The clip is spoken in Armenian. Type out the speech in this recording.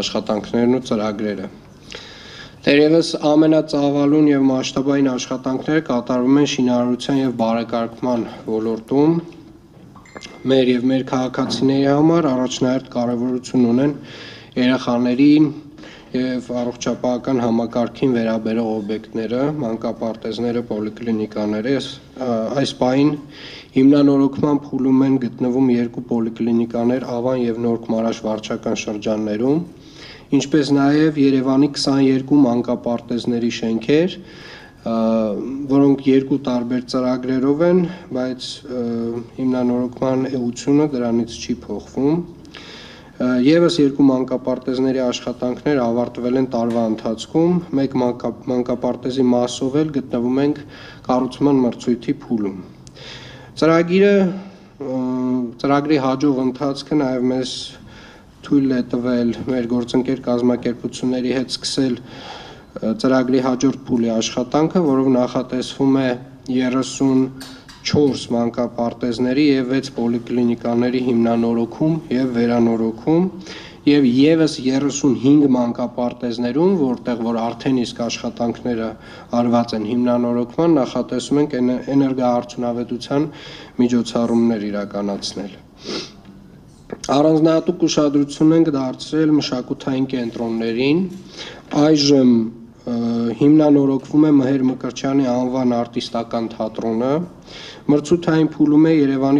աշխատանքներն ու ծրագրերը։ Դերևս ամենածավալուն եւ մասշտաբային աշխատանքները կատարվում են շինարարության եւ բարեկարգման ոլորտում։ Մեր եւ մեր քաղաքացիների համար առաջնահերթ կարեւորություն ունեն երեխաների եւ առողջապահական համակարգին վերաբերող օբյեկտները, մանկապարտեզները, պոլիկլինիկաները։ Այս պահին հիմնանորոգման փուլում են գտնվում 2 պոլիկլինիկաներ Ավան եւ Նոր Քմարաշ վարչական շրջաններում, ինչպես նաեւ Երևանի 22 մանկապարտեզների շենքեր, որոնք 2 տարբեր ծրագրերով են, բայց հիմնանորոգման էությունը դրանից չի փոխվում։ Եվս 2 մանկապարտեզների աշխատանքներ ավարտվել են տարվա ընթացքում, 1 մանկապարտեզի մասով էլ գտնվում ենք կառուցման մրցույթի փուլում։ Ծրագրի հաջող ընթացքը նաև մեզ թույլ է տվել մեր գործընկեր կազմակերպությունների հետ սկսել ծրագրի հաջորդ փուլի աշխատանքը, որով նախատեսվում է 34 մանկապարտեզների եւ 6 պոլիկլինիկաների հիմնանորոգում եւ վերանորոգում եւ եւս 35 մանկապարտեզներում, որտեղ որ արդեն իսկ աշխատանքները արված են հիմնանորոգման, նախատեսում ենք էներգոարդյունավետության միջոցառումներ իրականացնել։ Առանձնահատուկ ուշադրություն ենք դարձրել մշակութային կենտրոններին։ Այժմ հիմնանորոգվում է Մհեր Մկրտչյանի անվան արտիստական թատրոնը, մրցութային փուլում է Երևանի